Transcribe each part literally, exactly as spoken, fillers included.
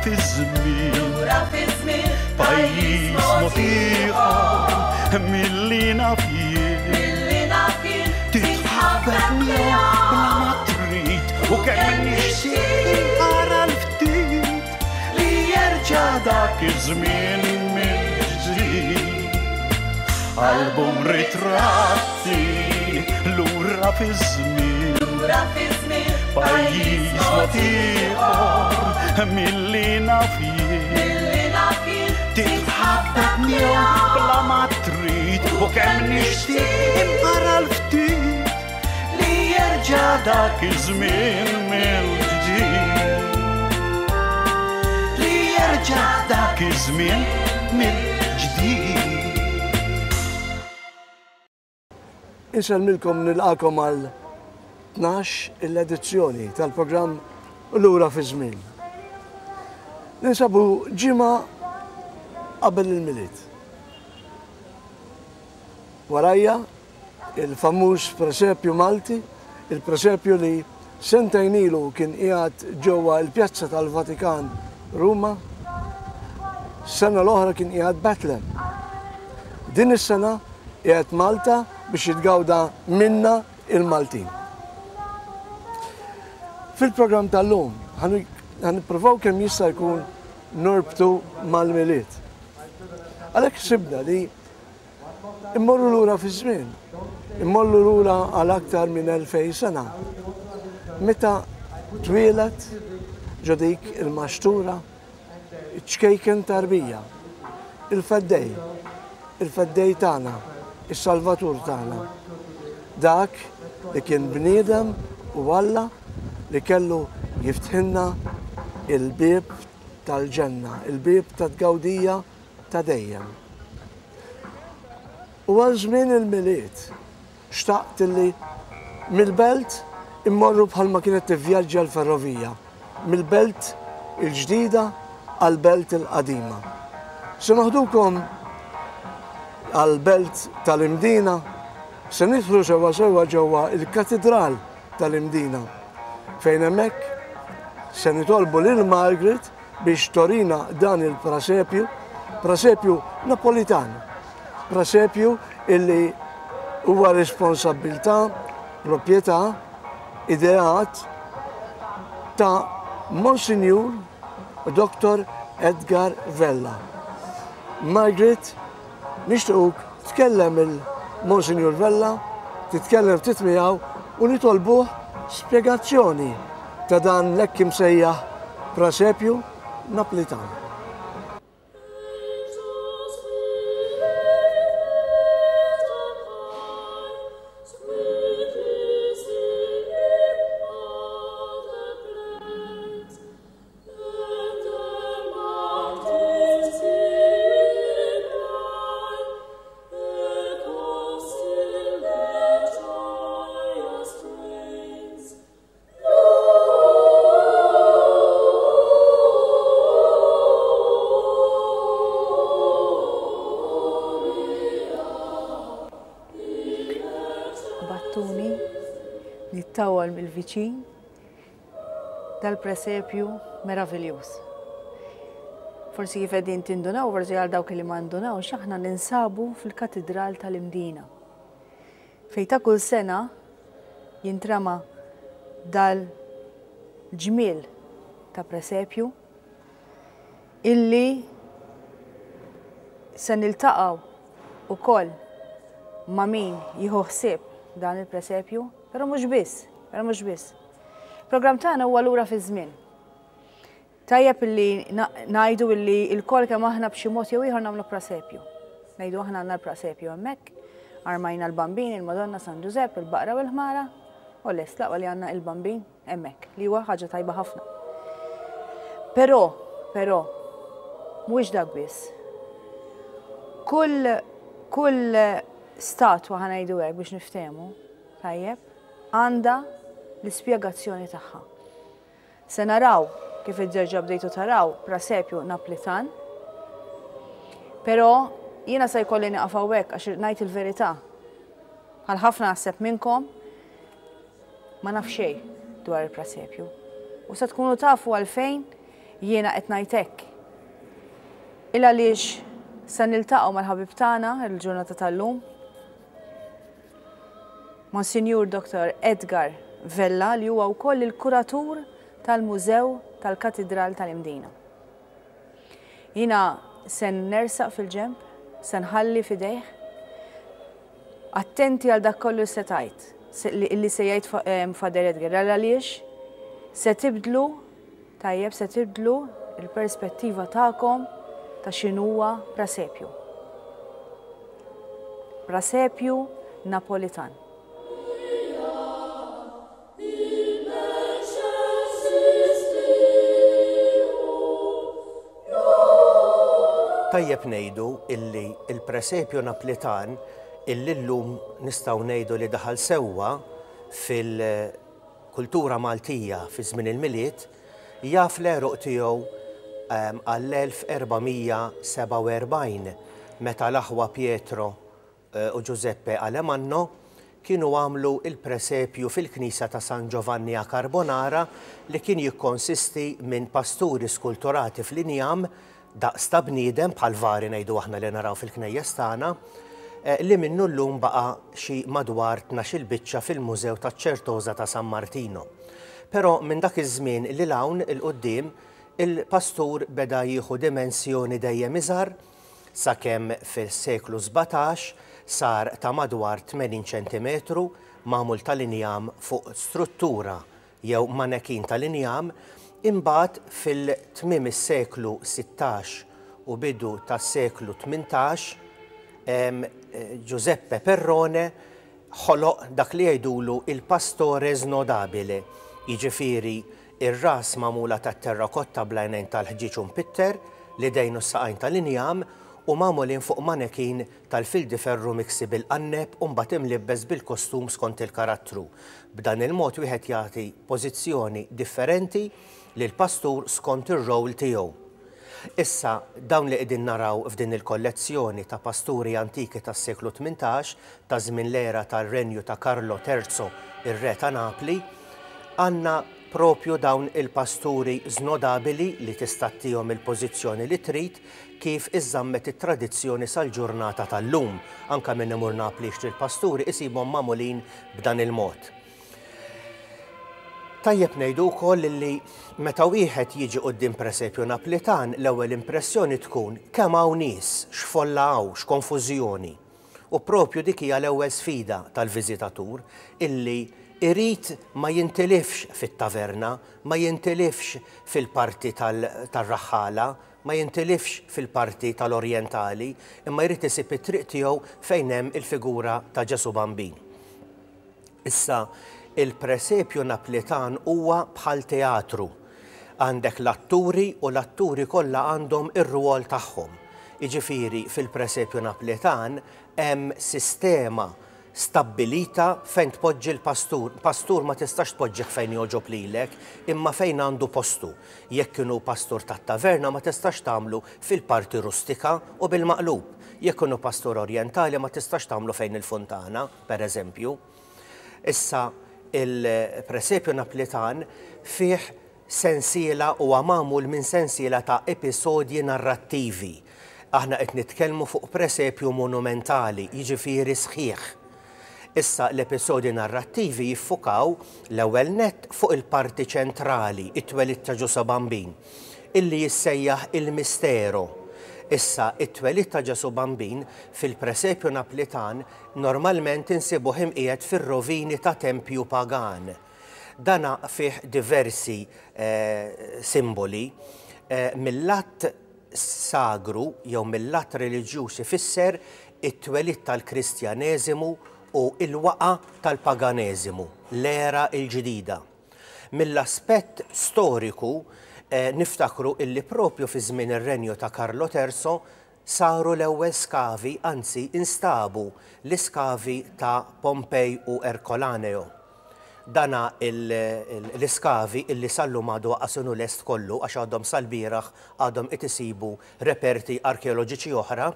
fi żmien, Lura fi żmien, pajjiż mod ieħor milli naf jien. Milli naf jien, Titħabbeb miegħu bla ma trid u kemm nixtieq inqara l-ftit li jerġa' dak iż-żmien mill-ġdid. Album ritratti lura fi żmien, Lura fi żmien, pajjiż mod ieħor milli naf jien. Milli naf jien, Titħabbeb miegħu bla ma trid u kemm nixtieq inqara l-ftit li jerġa' dak iż-żmien mill-ġdid. Li jerġa' dak iż-żmien mill-ġdid. Insellmilkom, nilqagħkom għal tnax l-edizzjoni tal-programm Lura fi Żmien. Ninsabu ġimgħa qabel il-Milied. Warajja il-famuż presepju Malti, il-presepju li sentejn ilu kien qiegħed ġewwa l-Pjazza tal-Vatikan Ruma, sena l-oħra kien qiegħed Bethlehem. Din is-sena qiegħed Malta biex jitgawda minna il-Maltin. Fil-programm tal-lum ħa nippruvaw kemm jista' jkun norbtu mal-Milied. Għalhekk sibna li immorru lura fi żmien, immorru lura għal aktar minn elfejn sena. Meta twieled ġo dik il-maxtura, ċkejken tarbija, il-feddej, il-feddej tagħna, is-Salvatur tagħna. Dak li kien bniedem u Alla li kellu jiftħilna il-bieb tal-ġenna, il-bieb tat-tgawdija ta' dejjem. U għal żmien il-Milied, xtaqt li mill-belt immorru bħalma kienet tivvjaġġa l-ferrovija, mill-belt il-ġdida għal-belt il-qadima. Se noħdukom għal-belt tal-Imdina, se nidħlu sewwa sewwa ġewwa il-Katidral tal-Imdina, fejn hemmhekk se nitolbu lil Margaret biex turina dan il-prasepju, prasepju Napolitan, prasepju illi huwa responsabbiltà, proprjetà, ideat ta' Monsignor Doktor Edgar Vella. Margaret, nixtiequk tkellem il-Monsignor Vella, titkellem ftit miegħu u nitolbuh spjegazzjoni ta' dan l-hekk imsejjaħ prasepju Napolitan. Battuni nittawal mill-viċin dal-presepju meraviljuż. Forsi kif qegħdin tindunaw, forsi għal dawk li ma ndunawx, aħna ninsabu fil-Katidral tal-Imdina. Fejn ta' kull sena jintrama dal-ġmiel ta' presepju illi se niltaqgħu ukoll ma' min jieħu ħsieb dan il-presepju, però mhux biss, però mhux biss. Programm tagħna huwa lura fi żmien. Tajjeb illi ngħidu illi l-kol kemm aħna b'xi mod jew ieħor nagħmlu presepju. Ngħidu aħna għandna l-presepju hemmhekk, armajna l-Bambin, il-Madonna, San Ġużepp, il-Baqra u l-Ħmara, u lest laqwa li għandna il-Bambin hemmhekk, li huwa ħaġa tajba ħafna. Però, però, mhuwiex dak biss. Kull, kull statwa, ħa ngħidu hekk biex niftehmu, tajjeb, għandha l-ispjegazzjoni tagħha. Se naraw kif id-derġa bdejtu taraw presepju Napolitan, però jiena se jkolli nieqaf hawnhekk għax ngħid il-verità. Bħal ħafna naħseb minnkom ma naf xejn dwar il-presepju. U se tkunu tafu għalfejn jiena qed ngħid hekk? Il għaliex se niltaqgħu mal-ħabib tagħna il-ġurnata tal-lum, Monsinjur Doktor Edgar Vella, li huwa wkoll il-kuratur tal-Mużew tal-Katidral tal-Imdina. Jiena se nersaq fil-ġemp, se nħalli fidejh, attenti għal dak kollu se tajt, li se jgħid Father Edgar, għaliex se tibdlu, tajjeb, se tibdlu il-perspettiva tagħkom ta' x'inhuwa presepju. Presepju Napolitan. Tajjeb ngħidu illi il-presepju Naplitan illi llum nistgħu ngħidu li daħal sewwa fil-kultura Maltija fi żmien il-Milied, jaf l-għeruq tiegħu għall-elf erba' mija sebgħa u erbgħin meta l-aħwa Pietro u Giuseppe Alemanno kienu għamlu il-presepju fil-knisja ta' San Giovanni a Carbonara li kien jikkonsisti minn pasturi skulturati fl-injam daqs ta' bniedem bħal vari ngħidu aħna li naraw fil-knejjes tagħna, li minnu llum baqa' xi madwar tnax-il biċċa fil-Mużew taċ-Ċertosa ta' San Martino. Però minn dak iż-żmien li l-hawn il-qudiem il-pastur beda jieħu dimensjoni dejjem iżgħar sakemm fis-seklu sbatax sar ta' madwar tmenin ċentimetru magħmul tal-injam fuq struttura jew manekin tal-injam. Imbagħad fil-tmiem is-seklu sittax u bidu tas-seklu tmintax, Giuseppe Perrone ħoloq dak li jgħidulu il-pastore snodabile, jiġifieri ir-ras magħmula tat-terrakotta bl-għajnejn tal-ħġieġ u mpitter, l-idejn u s-saqajn tal-injam u magħmulin fuq manekin tal-fildi ferru miksi bil-qanneb u mbagħad imlibbes bil-kostum skont il-karattru. B'dan il-mod wieħed jagħti pożizzjoni differenti lill-pastur skont ir-rol tiegħu. Issa, dawn li qegħdin naraw f'din il-kollezzjoni ta' pasturi antiki tas-seklu tmintax, ta' żmien l-era tar-renju ta' Carlo Terzo, ir-re ta' Napli, għandna propju dawn il-pasturi snodabili li tista' ttihom il-pożizzjoni li trid kif iżżammet it-tradizzjoni sal-ġurnata tal-lum. Anka minn imur Napli jixtri l-pasturi isibhom magħmulin b'dan il-mod. Tajjeb ngħidu wkoll li meta wieħed jiġi quddiem presepju Naplitan, l-ewwel impressjoni tkun kemm hawn nies, x'folla hawn, x'konfużjoni. U propju dik hija l-ewwel sfida tal-viżitatur illi irid ma jintilifx fit-taverna, ma jintilifx fil-parti tal-raħħala, ma jintilifx fil-parti tal-orjentali, imma jrid isib it-triq tiegħu fejn hemm il-figura ta' Ġesu Bambin. Issa, il-presepju Naplitan huwa bħal teatru. Għandek l-atturi u l-atturi kollha għandhom ir-rwol tagħhom. Jiġifieri fil-presepju Naplitan hemm sistema stabbilita fejn tpoġġi l-pastur. Pastur ma tistax tpoġġih fejn jogħġob lilek, imma fejn għandu postu. Jekk inhu pastur tat-taverna ma tistax tagħmlu fil-parti rustika u bil-maqlub. Jekk inhu pastur orjentali ma tistax tagħmlu fejn il-fontana, per eżempju. Issa, il-presepju Naplitan fih sensiela u magħmul minn sensiela ta' episodji narrattivi. Aħna qed nitkellmu fuq presepju monumentali, jiġifieri sħiħ. Issa l-episodji narrattivi jiffukaw l-ewwel nett fuq il-parti ċentrali, it-twelid ta' Ġesù Bambin, illi jissejjaħ il-mistero. Issa, it-twelid ta' Ġesù Bambin fil-presepju Naplitan normalment insibuh imqiegħed fir-rovini ta' tempju pagan. Dana fih diversi, eh, simboli, eh, mill-att sagru jew mill-att reliġjuż ifisser it-twelid tal-Kristjaneżimu u il-waqa tal-paganeżimu, l-era il-ġdida. Mill-aspett storiku, eh, niftakru illi propju fi żmien ir-renju ta' Carlo Terzo saru l-ewwel skavi, anzi instabu l-iskavi ta' Pompej u Ercolaneo. Dana l-iskavi illi sal-lum għadu qasunu lest kollu għax għadhom sal-bieraħ għadhom qed isibu reperti arkeoloġiċi oħra,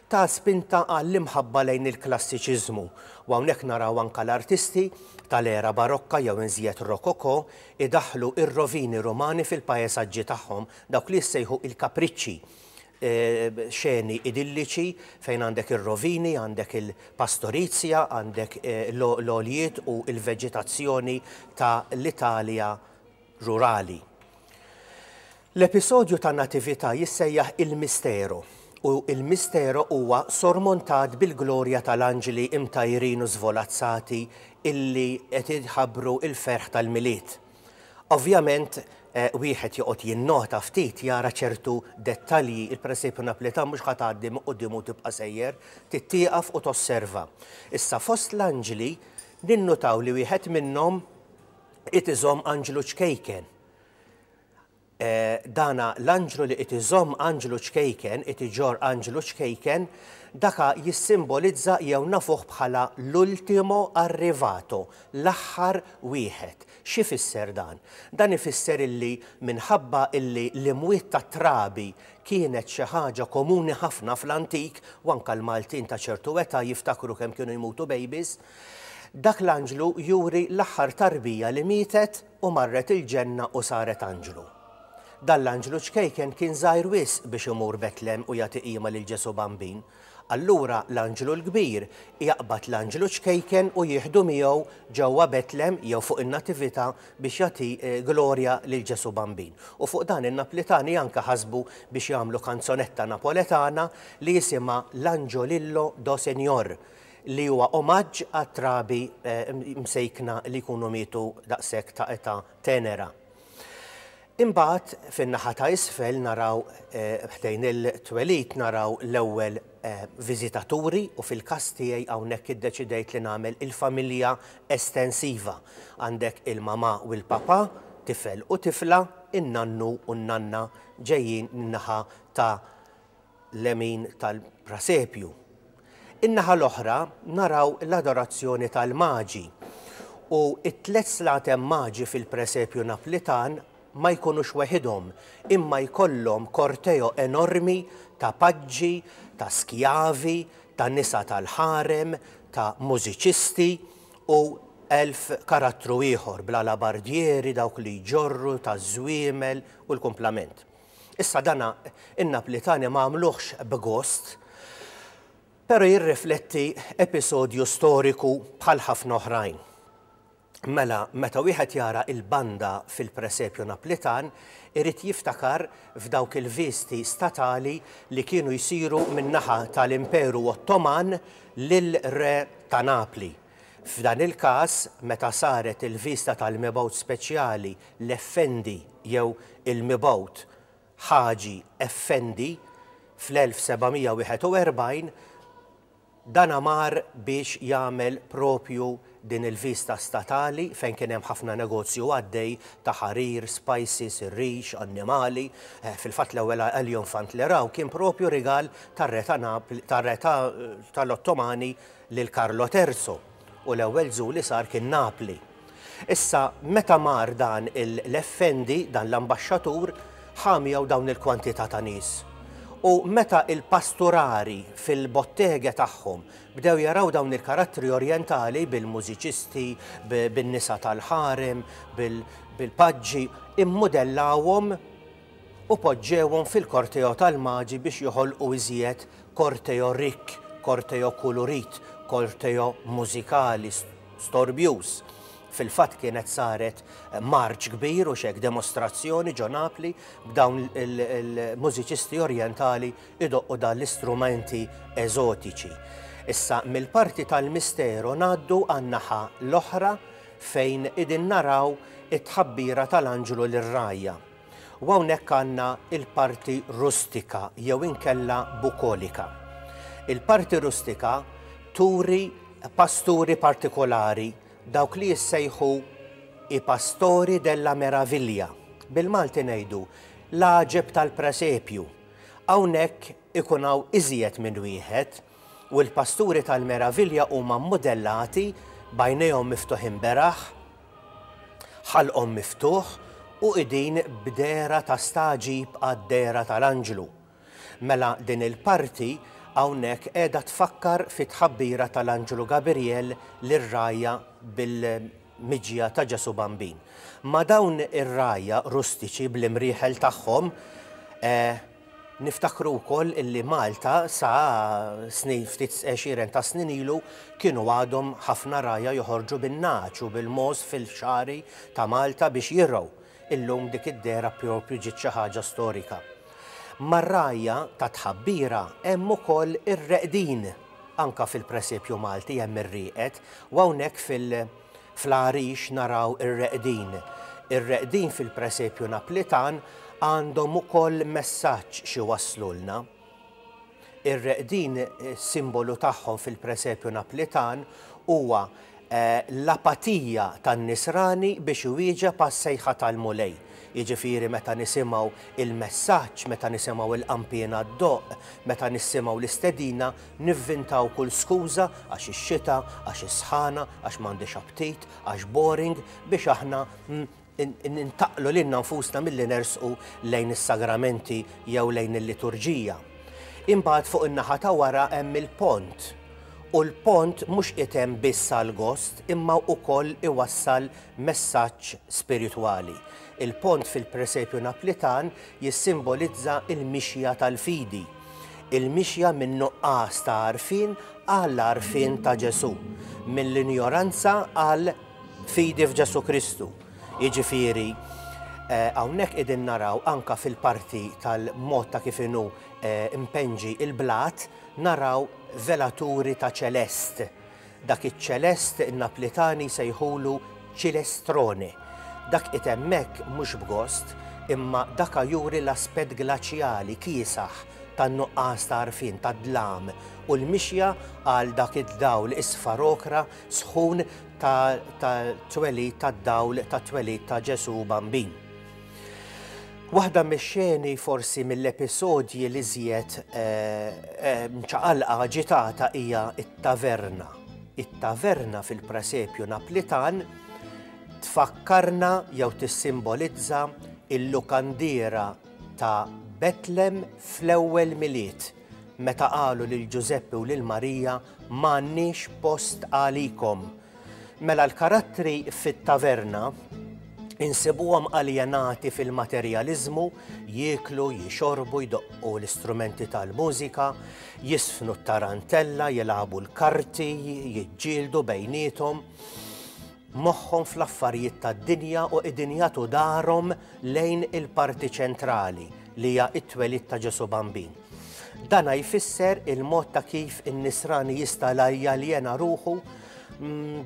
ta' spinta għall-imħabba lejn il-klassiċiżmu. U hawnhekk naraw anka l-artisti tal-era barokka jew inżjed rokoko idaħlu ir-rovini romani fil-pajjeżaġġi tagħhom, dawk li jissejħu il-kapriċċi, xeni idilliċi fejn għandek ir-rovini, għandek il-pastorizja, għandek l-oljiet u il-veġetazzjoni ta' l-Italja rurali. L-episodju ta' natività jissejjaħ il-Mistero u il-Mistero huwa sormontat bil-glorja tal-anġli imtajrin u zvolazzati illi qed jħabbru il-ferħ tal-Milied. Ovvjament, wieħed joqgħod jinnota ftit jara ċertu dettalji, il-presepju Naplitan mhux ħa tgħaddi minn quddiem u tibqa' sejjer, tittieqaf u tosserva. Issa fost l-anġli ninnutaw li wieħed minnhom qed iżomm anġlu ċkejken. Dana l-anġlu li qed iżomm anġlu ċkejken, qed iġorr anġlu ċkejken, daka jissimbolizza jew nafuh bħala l-ultimo arrivato, l-aħħar wieħed. Xi fisser dan? Dan ifisser illi minħabba illi l-imwiet ta' trabi kienet xi ħaġa komuni ħafna fl-antik, u anke l-Maltin ta' ċertu età jiftakru kemm kienu jmutu babies, dak l-anġlu juri l-aħħar tarbija li mietet u marret il-ġenna u saret anġlu. Dan l-anġlu ċkejken kien żgħir wisq biex imur Betlem u jagħti qima lil Ġesu Bambin. Allura l-anġlu l-kbir jaqbad l-anġlu ċkejken u jieħdu miegħu ġewwa Betlem jew fuq in-natività biex jagħti glorja lil Ġesu Bambin. U fuq dan in-Naplitani anke ħasbu biex jagħmlu kanzonetta napoletana li jisimha L'Angiolillo do Signor, li huwa omaġġ għat-trabi msejkna li jkunu mietu daqshekk ta' età tenera. Imbagħad fin-naħa ta' isfel naraw ħdejn il-twelid naraw l-ewwel viżitaturi u fil-każ tiegħi hawnhekk iddeċidejt li nagħmel il-familja estensiva. Għandek il-mama u l-papa, tifel u tifla, in-nannu u n-nanna ġejjin min-naħa ta' lemin tal-prasepju. In-naħa l-oħra naraw l-adorazzjoni tal-maġi u it-tliet slatem maġi fil-presepju Naplitan ma jkunux weħidhom, imma jkollhom korteo enormi ta' paġġi, ta' skjavi, ta' nisa tal-ħarem, ta' mużiċisti u elf karattru ieħor bla labardieri, dawk li jġorru, ta' żwiemel u l-kumplament. Issa dana in-Naplitani ma għamluhx b'gost, però jirrifletti episodju storiku bħal ħafna oħrajn. Mela, meta wieħed jara il-banda fil-presepju Naplitan, irid jiftakar f'dawk il-visti statali li kienu jsiru min-naħa tal-Imperu Ottoman lil re ta' Napli. F'dan il-każ, meta saret il-vista tal-mibgħut speċjali l-Effendi jew il-mibgħut Ħaġi Effendi fl-elf seba' mija wieħed u erbgħin, dan mar biex jagħmel propju din il-vista statali fejn kien hemm ħafna negozju għaddej ta' ħarir, spices, rix, annimali. Fil-fatt l-ewwel eljunfant li raw kien propju rigal tar-re ta' Napli, tar-re tal-Ottomani lil Carlo Terzo, u l-ewwel żu li sar kien Napli. Issa meta mar dan l-Effendi, dan l-ambaxxatur, ħa miegħu dawn il-kwantità ta' nies. U meta il-pasturari fil-bottega tagħhom bdew jaraw dawn il-karattri orjentali bil-mużiċisti, bin-nisa tal-ħarem, bil-paġġi, immodellawhom u poġġewhom fil-korteo tal-maġi biex joħolqu iżjed korteo rikk, korteo kulurit, korteo mużikali, storbjuż. Fil-fatt kienet saret marċ kbir u xek demostrazzjoni ġo Napli b'dawn il-mużiċisti orjentali idoqqu dan l-istrumenti eżotiċi. Issa mill-parti tal-misteru ngħaddu għan-naħa l-oħra fejn idin naraw it-tħabbira tal-anġlu lir-rajja. U hawnhekk għandna il-parti rustika jew inkella bukolika. Il-parti rustika turi pasturi partikolari, dawk li jissejħu i pastori della meraviglia. Bil-Malti ngħidu l-għaġeb tal-presepju. Hawnhekk ikun hawn iżjed minn wieħed u l-pasturi tal-meravilja huma modellati b'għajnejhom miftuħin beraħ, Ħalqhom miftuħ u qegħdin b'dehra ta' stagħġib għad-dehra tal-anġlu. Mela din il-parti hawnhekk qiegħda tfakkar fit-tħabbira tal-anġlu Gabriel lir-rgħajja bil-miġja ta' Ġesù Bambin. Ma dawn ir-rgħajja rustiċi bl-imrieħel tagħhom, eh, niftakru wkoll illi Malta sa snin, ftit għexieren ta' snin ilu, kienu għadhom ħafna rgħajja joħorġu bin-nagħaġ u bil-mogħoż fil-xagħri ta' Malta biex jirgħu. Illum dik id-dehra propju ġiet xi ħaġa storika. Mar-rgħajja ta' tħabbira hemm ukoll ir-reqdin, anka fil-presepju Malti hemm ir-rieqed, u hawnhekk fil- fl-għarix naraw ir-reqdin. Ir-reqdin fil-presepju Naplitan għandhom ukoll messaġġ xi waslulna. Ir-reqdin, simbolu tagħhom fil-presepju Naplitan huwa eh, l-apatija tan-nisrani biex iwieġeb għas-sejħa tal-Mulej. Jiġifieri meta nisimgħu il-messaġġ, meta nisimgħu il-qanpiena ddoqq, meta nisimgħu l-istedina, nivvintaw kull skuża għax ix-xita, għax is-sħana, għax m'għandix aptit, għax boring, biex aħna nintaqlu lilna nfusna milli nersqu lejn is-sagramenti jew lejn il-liturġija. Imbagħad fuq in-naħa ta' wara hemm il-pont. U l-pont mhux item biss għal-gost, imma wkoll iwassal messaġġ spiritwali. Il-pont fil-presepju Naplitan jissimbolizza il-mixja tal-fidi, il-mixja minn nuqqas ta' għarfien għall għarfien ta' Ġesù, mill-injoranza għal fidi f'Ġesù Kristu. Jiġifieri, eh, hawnhekk qegħdin naraw anka fil-parti tal-mod ta' kif inhu eh, impenġi il-blat, naraw velaturi ta' ċelest. Dak iċ-ċelest in-Naplitani sejħulu ċilestrone. Dak itemmek mhux b'gost, imma daka juri l-aspett glaċjali kiesaħ tan-nuqqas ta' għarfien, tad-dlam, u l-mixja għal dak id-dawl isfar okra sħun ta' twelid tad-dawl ta' twelid ta' Ġesù Bambin. Waħda mix-xeni forsi mill-episodji li żjed mċaqalqa aġitata hija it-taverna. It-taverna fil-presepju Naplitan tfakkarna jew tissimbolizza il-lukandiera ta' Betlem fl-ewwel Milied, meta qalu lil Ġużeppi u lil Marija m'għandniex post għalikom. Mela l-karattri fit-taverna insibuhom aljenati fil-materjaliżmu, jieklu, jixorbu, jdoqqu l-istrumenti tal-mużika, jisfnu t-tarantella, jilagħbu l-karti, jiġġieldu bejniethom, moħħhom fl-affarijiet tad-dinja u qegħdin jagħtu darhom lejn il-parti ċentrali li hija t-twelid ta' Ġesù Bambin. Dana jfisser il-mod ta' kif in-nisrani jista' jaljena ruħu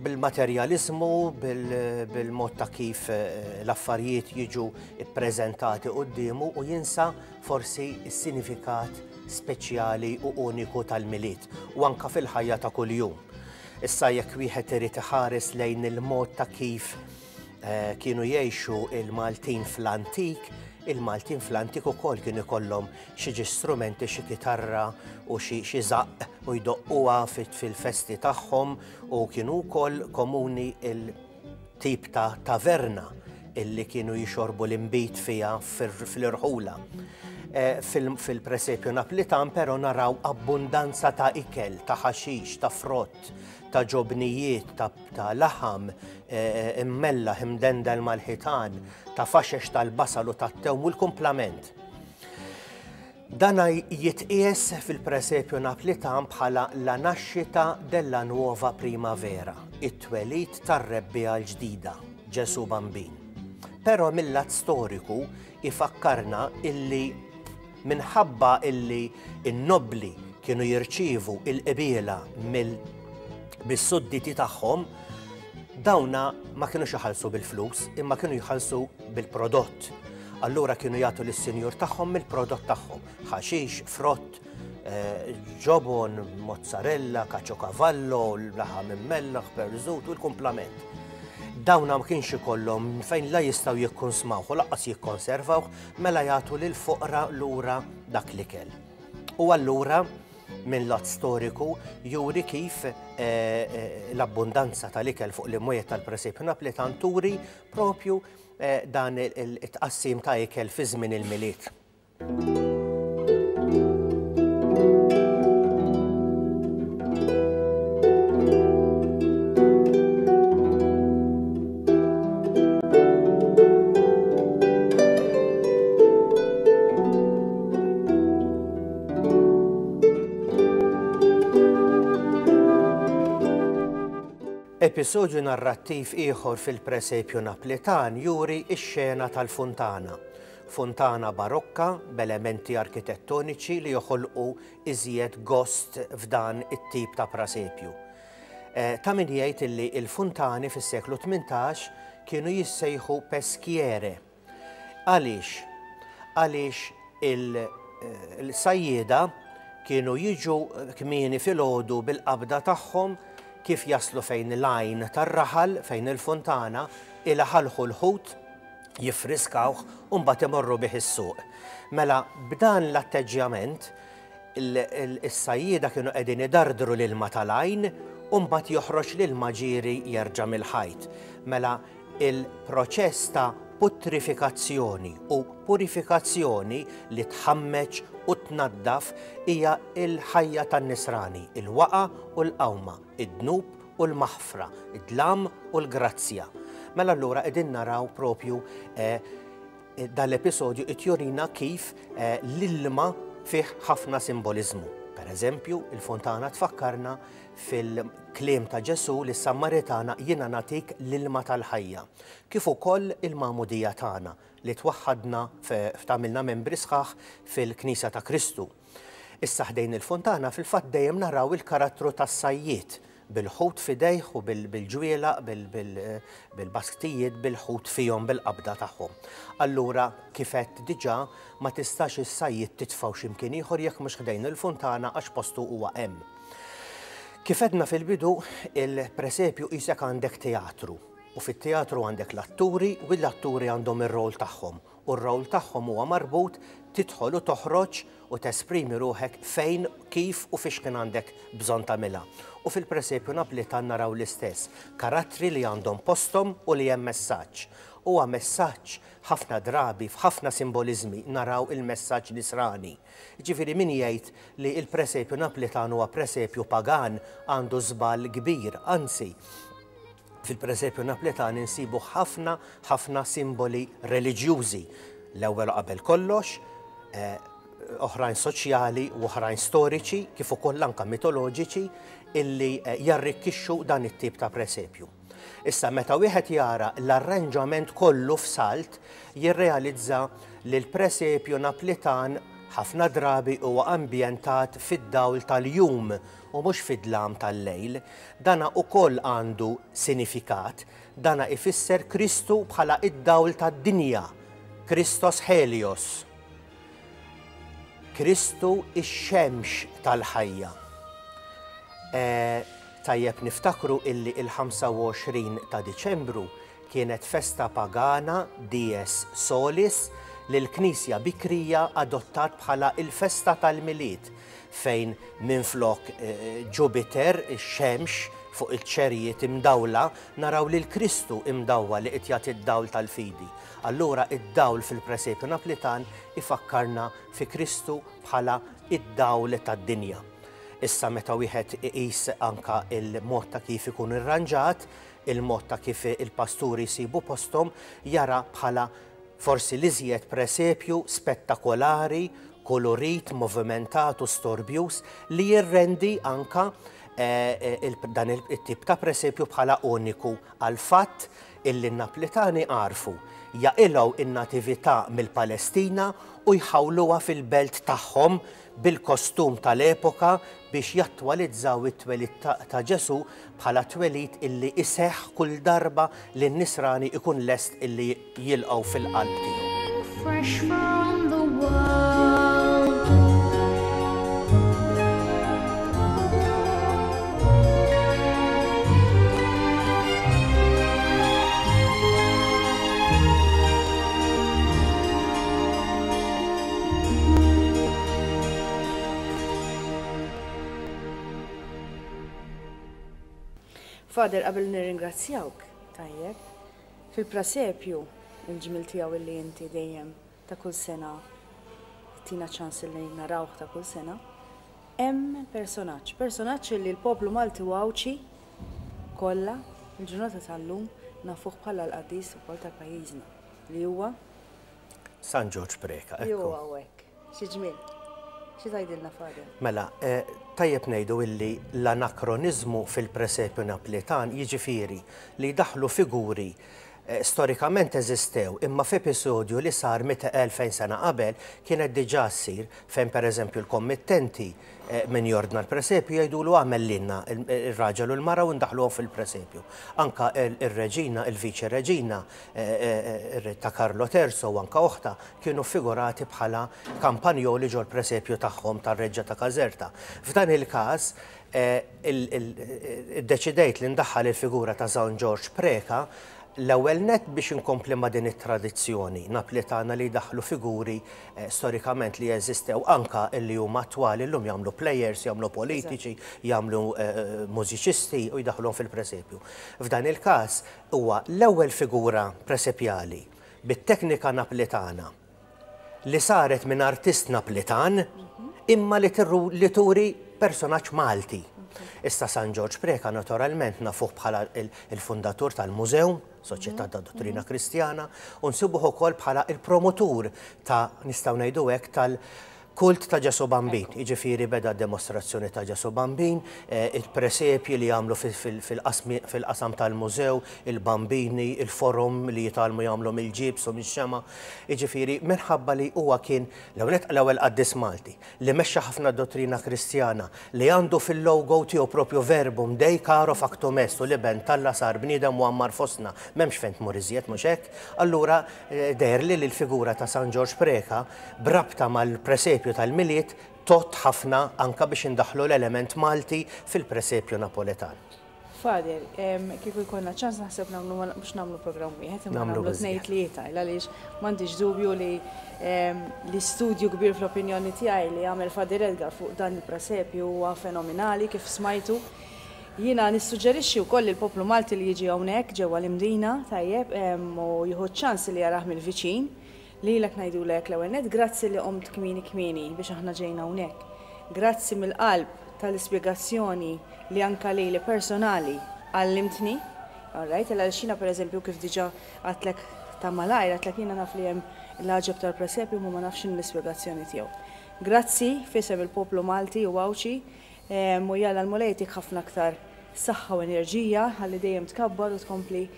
bil-materjalizmu, bil-mod ta' kif l-affarijiet jiġu ippreżentati quddiemu u jinsa forsi s-sinifikat speċjali u uniku tal-Milied u anka fil-ħajja ta' kuljum. Issa jekk wieħed irid iħares lejn il-mod ta' kif kienu jgħixu il-Maltin fl-antik, il-Maltin fl-antik ukoll kienu ikollhom xi strumenti, xi kitarra u xi żaqq u jdoqquha fil-festi tagħhom, u kienu wkoll komuni il-tip ta' taverna illi kienu jixorbu l-inbid fiha fil-irħula. Fil-presepju Naplitan però naraw abbundanza ta' ikel, ta' ħaxix, ta' frott, ta' ġobnijiet, ta' laħam immellaħ imdendel mal-ħitan, ta' faxex tal-basal u tat-tewm u l-kumplament. Dana jitqies fil-presepju Naplitan bħala la nascita della nuova primavera, it-twelid tar-rebbiegħa l-ġdida, Ġesù Bambin. Però mill-lat storiku ifakkarna illi minħabba illi n-nobli kienu jirċievu il-qbiela mill-sudditi tagħhom, dawna ma kienux jħallsu bil-flus, imma kienu jħallsu bil-prodott. Allura kienu jagħtu lis-sinjur tagħhom mill-prodott tagħhom, ħaxix, frott, ġobon, mozzarella, caciocavallo, laħam immellaħ, perżut u l-kumplament. Dawna ma kienx ikollhom fejn la jistgħu jikkonsmawh u lanqas jikkonservawh, mela jagħtu lil foqra lura dak l-ikel. U allura minn lat storiku juri kif l-abbundanza tal-ikel fuq l-imwiet tal-presepju Naplitan turi propju dan it-tqassim ta' ikel fi żmien il-Milied. Episodju narrattiv ieħor fil-presepju Naplitan juri x-xena tal-funtana. Funtana barokka b'elementi arkitettoniċi li joħolqu iżjed gost f'dan it-tip ta' presepju. Ta' min jgħid illi il-funtani fis-seklu tmintax kienu jissejħu peschiere. Għaliex? Għaliex il-sajjieda kienu jiġu kmieni filgħodu bil-qabda tagħhom kif jaslu fejn l-għajn tar-raħal, fejn il-funtana, ilaħalħu l-ħut, jiffriskawh u mbagħad imorru bih is-suq. Mela b'dan l-atteġġjament is-sajjieda kienu qegħdin idardru l-ilma tal-għajn u mbagħad joħroġ l-ilma ġieri jerġa' mill-ħajt. Mela il-proċess ta' putrifikazzjoni u purifikazzjoni li tħammeġ u tnaddaf hija l-ħajja tan-nisrani, il-waqa u l-qawma, id-dnub u l-maħfra, id-dlam u l-grazzja. Mela allura qegħdin naraw propju dal-episodju qed jurina kif l-ilma fih ħafna simboliżmu. Per eżempju, il-fontana tfakkarna fil-kliem ta' Ġesù li s-Sammaritana jiena nagħtik l-ilma tal-ħajja. Kif ukoll il-magħmudija tagħna li twaħħadna f'tagħmilna membri sħaħ fil-Knisja ta' Kristu. Issa ħdejn il-fontana fil-fatt dejjem naraw il-karattru tas-sajjied bil-ħut fidejh u bil-ġwielaq, bil-basktijiet, bil-ħut fihom bil-qabda tagħhom. Allura kif għedt diġà ma tistax is-sajjied titfgħu x'imkien ieħor jekk mhux ħdejn il-fontana għax postu huwa hemm. Kif għedna fil-bidu, il-presepju qisek għandek teatru u fit-teatru għandek l-atturi u l-atturi għandhom ir-rol tagħhom u r-rol tagħhom huwa marbut tidħol u toħroġ u tesprimi ruħek fejn, kif u fiex kien għandek bżonn tagħmilha. U fil-presepju Naplitan naraw l-istess, karattri li għandhom posthom u li hemm messaġġ. Huwa messaġġ ħafna drabi f'ħafna simboliżmi naraw il-messaġġ nisrani. Ġifieri min jgħid li l-presepju Naplitan huwa presepju pagan għandu żball kbir, anzi fil-presepju Naplitan insibu ħafna ħafna simboli reliġjużi. L-ewwel qabel kollox, oħrajn soċjali u oħrajn storiċi, kif ukoll anke mitoloġiċi illi jarrikkixxu dan it-tip ta' presepju. Issa meta wieħed jara l-arranġament kollu f'salt, jirrealizza li l-presepju Naplitan ħafna drabi huwa ambjentat fid-dawl tal-jum u mhux fid-dlam tal-lejl. Dana ukoll għandu sinifikat, dana ifisser Kristu bħala id-dawl tad-dinja, Kristos Helios. Kristu ix-xemx tal-ħajja. Tajjeb niftakru illi il-ħamsa u għoxrin ta' Diċembru kienet festa pagana Dies Solis li l-Knisja bikrija adottat bħala il-festa tal-Milied fejn minflok Ġupiter, ix-xemx fuq il-ċerijiet imdawla, naraw lil Kristu imdawwa li qed jagħti d-dawl tal-fidi. Allura id-dawl fil-presepju Naplitan ifakkarna fi Kristu bħala id-dawl tad-dinja. Issa meta wieħed iqis anka il-mod ta' kif ikun irranġat, il-mod ta' kif il-pasturi jsibu posthom, jara bħala forsi l-iżjed presepju spettakolari, kolorit, movimentat u storbjus li jirrendi anka dan it-tip ta' presepju bħala uniku għal fatt illi n-Naplitani għarfu jaqilgħu in-natività mill-Palestina u jħawluha fil-belt tagħhom bil-kostum tal-epoka biex jattwalizzaw it-twelid ta' Ġesù bħala twelid illi iseħħ kull darba li n-nisrani ikun lest illi jilqgħu fil-qalb tiegħu. Fresh from the world. Father, qabel nirringrazzjawk, tajjeb, fil-presepju il-ġmil tiegħu illi inti dejjem ta' kull sena tina ċans li narawh ta' kull sena, hemm personaġġ, personaġġ li l-poplu Malti u Għawdxi kollha il-ġurnata tal-lum nafuh bħala l-qaddis ukoll ta' pajjiżna li huwa San Ġorġ Preca. Li huwa hawnhekk. Xi ġmiel. Xi tgħidilna, Father? Mela, tajjeb ngħidu illi l-anakroniżmu fil-presepju Naplitan jiġifieri li daħlu figuri storikament eżistew, imma f'episodju li sar elfejn sena qabel kienet diġà ssir fejn pereżempju l-kommittenti min jordna l-presepju jgħidulu għamel lilna ir-raġel u l-mara u ndaħluhom fil-presepju. Anka ir-reġina, il-viċi reġina ta' Carlo Terzo u anka oħta kienu figurati bħala kampanjoli ġol presepju tagħhom tar-Reġġa ta' Caserta. F'dan il-każ iddeċidejt li ndaħħal il-figura ta' San Ġorġ Preca l-ewwel net biex inkompli ma' din it-tradizzjoni Naplitana li daħlu figuri storikament li jeżistew anka li huma attwali llum jagħmlu players, jagħmlu politiċi, jagħmlu mużiċisti u jdaħluhom fil-presepju. F'dan il-każ huwa l-ewwel figura presepjali bit-teknika Naplitana li saret minn artist Naplitan imma li turi personaġġ Malti. Issa San Ġorġ Preca naturalment nafuh bħala il-fundatur tal-mużew, Soċjetà ta' Dottrina Kristjana, u nsibuh ukoll bħala il-promotur ta' nistgħu ngħidu hekk tal-kult ta' Ġesù Bambin. Jiġifieri beda d-demostrazzjoni ta' Ġesù Bambin, il-presepji li jagħmlu fil-qasam tal-mużew, il-bambini, il-forum li jitgħallmu jagħmlu mill-ġibs u mix-xema. Jiġifieri minħabba li huwa kien l-ewwel qaddis Malti li mexxa ħafna dottrina Kristjana, li għandu fil-logo tiegħu propju verbum Dei caro factum est, u l-iben t'Alla sar bniedem u għammar fostna, m'hemmx fejn tmur iżjed mhux hekk. Allura deher li l-figura ta' San Ġorġ Preca brabta mal-presepju tal-Milied tot ħafna anka biex indaħlu l-element Malti fil-presepju Napoletan. Father, kieku jkollna ċans naħseb nagħmlu mhux nagħmlu programm wieħed, imma nagħmlu tnejn tlieta, għaliex m'għandix dubju li l-istudju kbir fl-opinjoni tiegħi li għamel Father Edgar fuq dan il-presepju huwa fenomenali kif smajtu. Jiena nissuġġerixxi wkoll lill-poplu Malti li jiġi hawnhekk ġewwa l-Imdina, tajjeb, u jieħu ċ-ċans li jarah mill-viċin. Lilek ngħidulek l-ewwel nett, grazzi li qomt kmieni kmieni biex aħna ġejna hawnhekk. Grazzi mill-qalb tal-ispjegazzjoni li anka lili personali għallimtni. All right, għal xina pereżempju kif diġà għadtlek ta' malajr, għadtlek jiena naf li hemm l-għaġeb tal-presepju ma ma nafx l-ispjegazzjoni tiegħu. Grazzi fisem il-poplu Malti u Għawdxi, u jalla l-Mulej jtik ħafna aktar saħħa u enerġija ħalli dejjem tkabbar u tkompli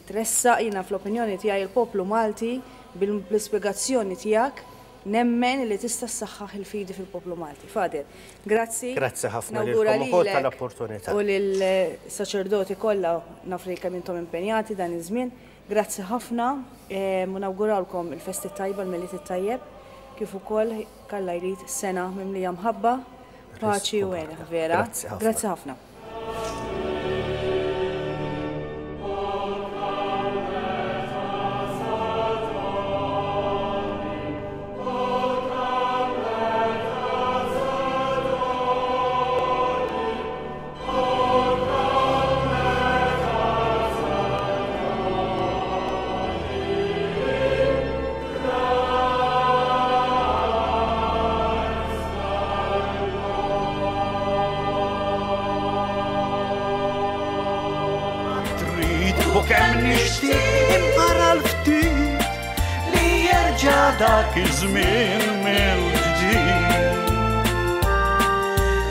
tressaq. Jiena fl-opinjoni tiegħi il-poplu Malti bl-ispjegazzjoni tiegħek nemmen li tista' ssaħħaħ il-fidi fil-poplu Malti. Father, grazzi. Grazzi ħafna lilkom ukoll tal-opportunità. U lill-saċerdoti kollha naf li kemm intom impenjati dan iż-żmien. Grazzi ħafna u nawguralkom il-festi tajba, l-Milied it-tajjeb, kif ukoll kalla jrid sena mimlija mħabba, paċi u hena, vera. Grazzi ħafna. Kemm nixtieq imqara l-ftit li jerġa' dak iż-żmien mill-ġdid.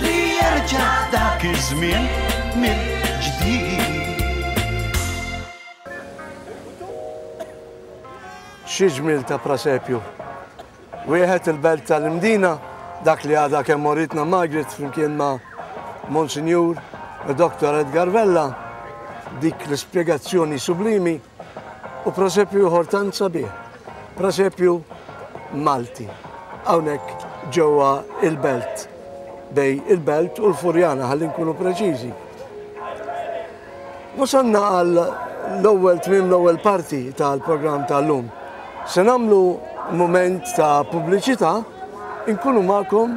Li jerġa' dak iż-żmien mill-ġdid. Xi ġmiel ta' presepju. Wieħed il-belt tal-Imdina, dak li għadha kemm moritna Margaret flimkien ma' Monsinjur Doktor Edgar Vella, dik l-ispjegazzjoni sublimi, u presepju ieħor tant sabiħ, presepju Malti, hawnhekk ġewwa il-belt, bej il-belt u l-Furjana, ħalli nkunu preċiżi. Wasalna għal l-ewwel tmiem l-ewwel parti tal-programm tal-lum. Se nagħmlu mument ta' pubbliċità, inkunu magħkom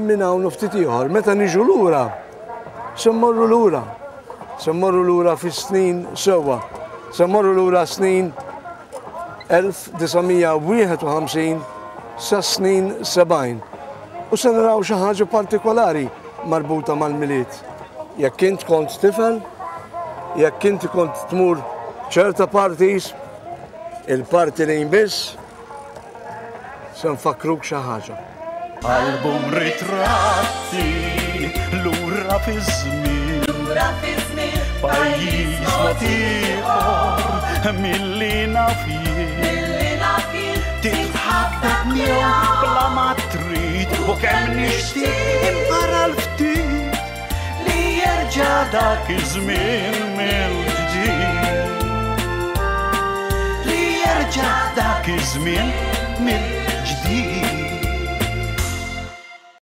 minn hawn u ftit ieħor. Meta niġu lura, se mmorru lura Se mmorru lura fis-snin sewwa. Se mmorru lura snin elf disa' mija wieħed u ħamsin sa snin sebgħin. U se naraw xi ħaġa partikolari marbuta mal-Milied. Jekk int kont tifel, jekk inti kont tmur ċerta parties, il-parti li jmiss, se nfakkruk xi ħaġa. Album ritratti lura fi żmien, Lura fi żmien, pajjiż mod ieħor milli naf jien. Milli naf jien, Titħabbeb miegħu bla ma trid u kemm nixtieq imqara l-ftit li jerġa' dak iż-żmien mill-ġdid. Li jerġa' dak iż-żmien mill-ġdid.